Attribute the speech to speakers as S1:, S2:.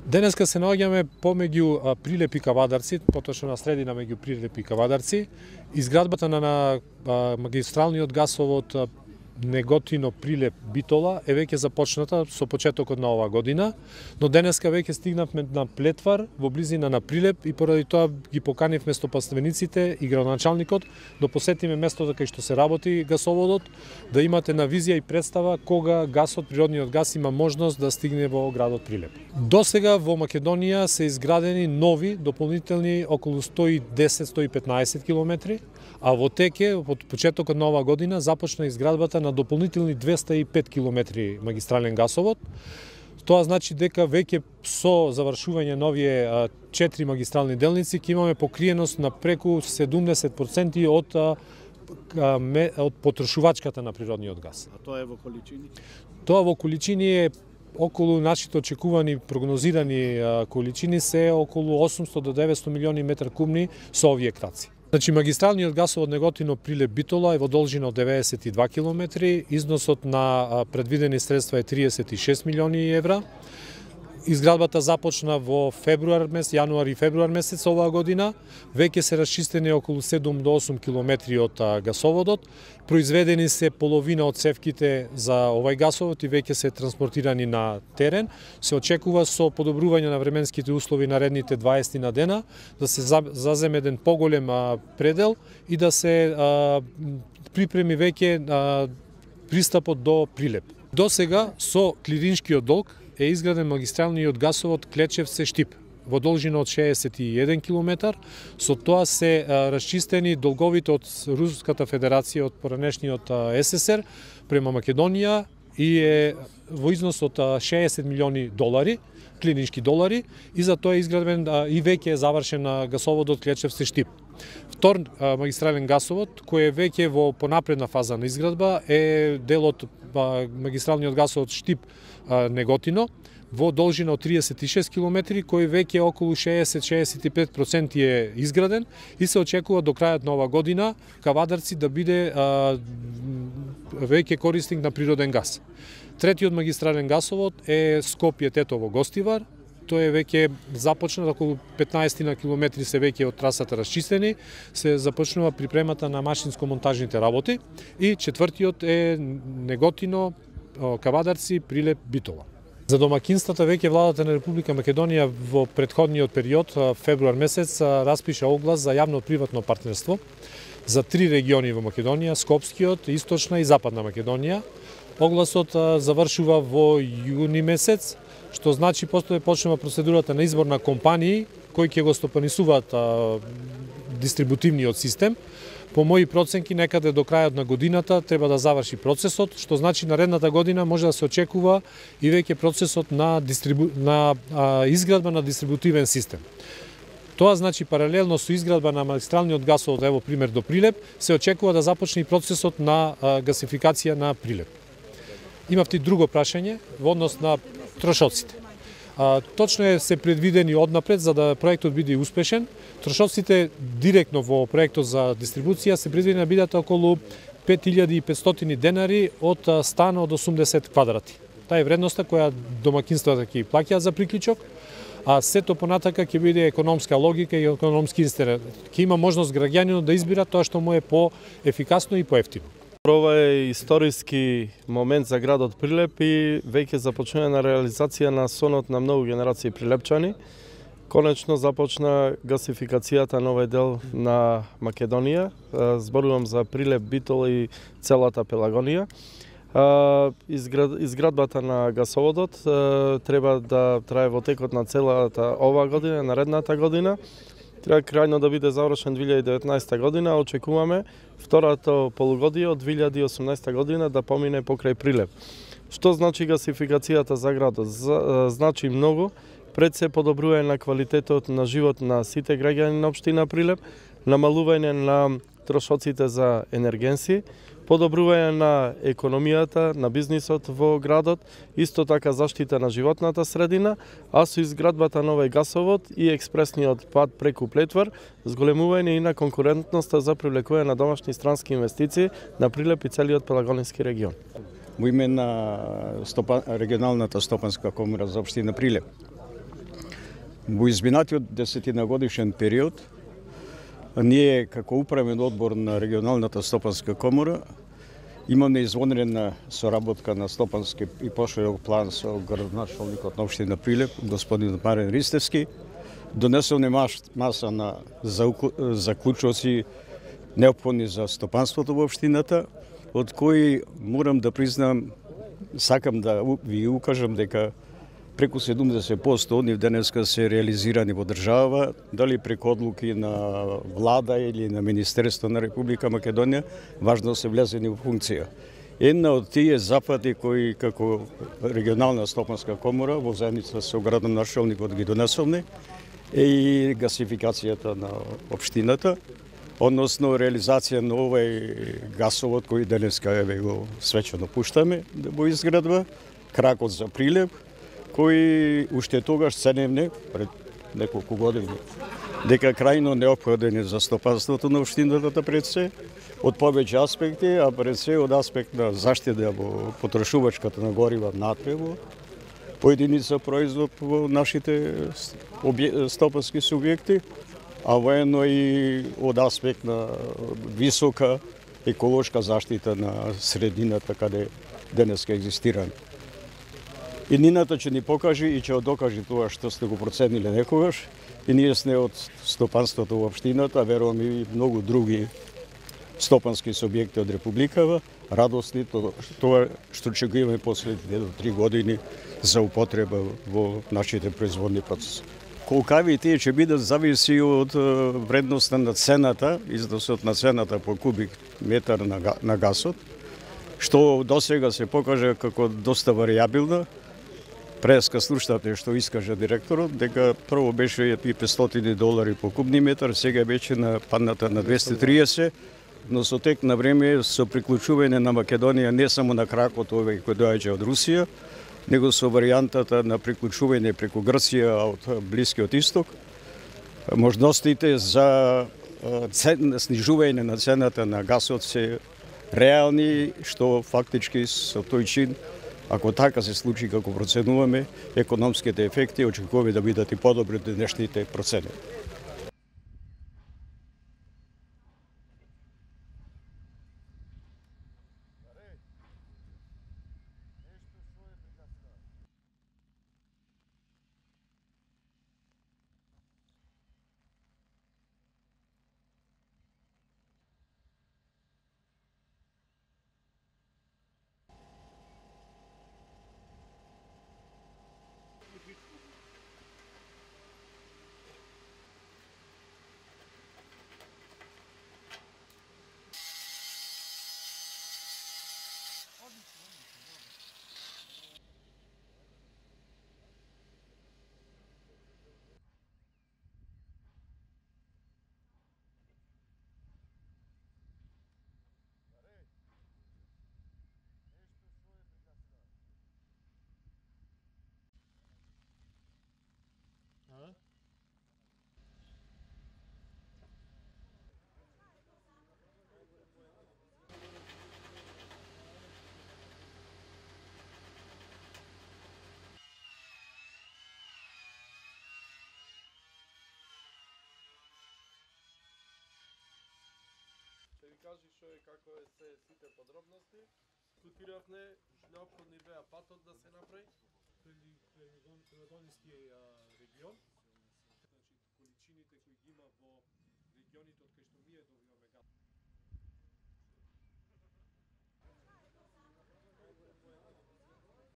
S1: Денеска се наоѓаме помеѓу Прилеп и Кавадарци, поточно на средина меѓу Прилеп и Кавадарци. Изградбата на магистралниот гасовод Неготино Прилеп Битола е веќе започната со почетокот на оваа година, но денеска веќе стигнавме на Плетвар во близина на Прилеп и поради тоа ги поканивме стопанствениците и градоначалникот да посетиме местото кај што се работи гасоводот, да имате на визија и представа кога гасот, природниот гас има можност да стигне во градот Прилеп. Досега во Македонија се изградени нови дополнителни околу 110-115 километри, а во теке од почетокот на оваа година започна изградбата на дополнителни 205 километри магистрален гасовод. Тоа значи дека веќе со завршување на овие 4 магистрални делници ќе имаме покриеност на преку 70% од потрошувачката на природниот газ.
S2: А тоа е во количини?
S1: Тоа во количини е околу нашите очекувани прогнозирани количини се околу 800 до 900 милиони метар кубни со овие краци. Значи, магистралниот гасовод Неготино Прилеп Битола е во должина од 92 километри, износот на предвидени средства е 36 милиони евра. Изградбата започна во јануари и февруар месец оваа година. Веќе се расчистени околу 7 до 8 километри од гасоводот. Произведени се половина од цевките за овај гасовод и веќе се транспортирани на терен. Се очекува со подобрување на временските услови наредните 20 на дена да се заземе еден поголем предел и да се припреми веќе пристапот до Прилеп. Досега со клириншкиот долг е изграден магистралниот гасовод Клечевце-Штип во должина од 61 км. Со тоа се расчистени долговите од Руската Федерација од поранешниот СССР према Македонија и е во износ од 60 милиони долари, клинички долари, и за тоа е изграден и веќе е завршен гасоводот Клечевце-Штип. Втор магистрален гасовод, кој е веќе во понапредна фаза на изградба, е дел од магистралниот гасовод Штип Неготино во должина од 36 км, кој веќе околу 60-65% е изграден и се очекува до крајот на оваа година Кавадарци да биде веќе корисник на природен газ. Третиот магистрален гасовод е Скопје-Тетово Гостивар. Тој е веќе започнат, околу 15 на километри се веќе од трасата расчистени, се започнува припремата на машинско-монтажните работи и четвртиот е Неготино, Кавадарци, Прилеп, Битола. За домакинствата веќе владата на Република Македонија во претходниот период, февруар месец, распиша оглас за јавно-приватно партнерство за 3 региони во Македонија, Скопскиот, Источна и Западна Македонија. Огласот завршува во јуни месец, што значи постои почнува процедурата на избор на компании кои ќе го стопанисуваат дистрибутивниот систем. По мои проценки, некаде до крајот на годината треба да заврши процесот, што значи наредната година може да се очекува и веќе процесот на изградба на дистрибутивен систем. Тоа значи паралелно со изградба на магистралниот гасовод, ево пример до Прилеп, се очекува да започне и процесот на гасификација на Прилеп. Имавте и друго прашање во однос на трошоците. Точно се предвидени однапред за да проектот биде успешен. Трошоците директно во проектот за дистрибуција се предвидени да бидат околу 5500 денари од стан од 80 квадрати. Таа е вредноста која домакинствата ќе плаќаат за приклучок, а сето понатака ќе биде економска логика и економски интерес. Ќе има можност граѓанинот да избира тоа што му е поефикасно и поевтино.
S2: Ова е историски момент за градот Прилеп и веќе започнува на реализација на сонот на многу генерации прилепчани. Конечно започна гасификацијата на овој дел на Македонија. Зборувам за Прилеп, Битола и целата Пелагонија. Изградбата на гасоводот треба да трае во текот на целата оваа година, наредната година. Треба крајно да биде завршен 2019 година, очекуваме второто полугодие од 2018 година да помине покрај Прилеп. Што значи гасификацијата за градот? Значи многу, пред се подобрување на квалитетот на живот на сите граѓани на општина Прилеп, намалување на трошоците за енергенси, подобрување на економијата, на бизнисот во градот, исто така заштита на животната средина, а со изградбата на овој гасовод и експресниот пат преку Плетвар, зголемување и на конкурентноста за привлекување на домашни странски инвестиции на Прилеп и целиот Пелагонски регион.
S3: Во име на регионалната стопанска комора за општина Прилеп, Во изминатиот 10-годишен период, ние како управен одбор на регионалната стопанска комора имаме извонредна соработка на стопански и поширок план со градоначалникот на општина Прилеп, господин Марен Ристевски. Донесовме маса на заклучоци неопходни за стопанството во општината, од кои морам да признам, сакам да ви укажам дека преку 70% од нив денеска се реализирани во држава, дали преку одлуки на влада или на Министерство на Република Македонија, важно се влезени во функција. Една од тие запати кои како регионална стопанска комора во заедница со градоначалникот ги донесовме е и гасификацијата на општината, односно реализација на овој гасовод кој денеска еве го свечено пуштаме во изградба, кракот за Прилеп, кои уште тогаш ценевне пред неколку години дека крајно неопходен е за стопанството на општината пред се, од повеќе аспекти, а пред се од аспект на заштита во потрошувачката на горива натрево, поединица производ во нашите стопански субјекти, а воено и од аспект на висока еколошка заштита на средината каде денеска екзистираме. И нината ќе ни покажи и ќе докаже тоа што сте го процениле некогаш. И ние сме од стопанството во општината, верувам и многу други стопански субјекти од Републикава, радосни тоа што ќе го имаме последните 3 години за употреба во нашите производни процеси. Колкави тие ќе бидат зависи од вредноста на цената, износот на цената по кубик метар на гасот, што досега се покажа како доста варијабилна. Преска слушате што искаже директорот, дека прво беше и $500 по кубни метар, сега беше падната на 230, но со тек на време со приклучување на Македонија не само на кракот овој кој доаѓа од Русија, него со варијантата на приклучување преку Грција од Блискиот Исток, можностите за снижување на цената на гасот се реални, што фактички со тој чин, ако така се случи како проценуваме, економските ефекти очекуваме да бидат и подобри од денешните процени.
S2: Ќе ви кажи што е како е сите подробности. Скутиравме, неопходни беа патот да се направи.
S1: Природонски регион, значи количините кои ги има во регионите од кои што ние добиваме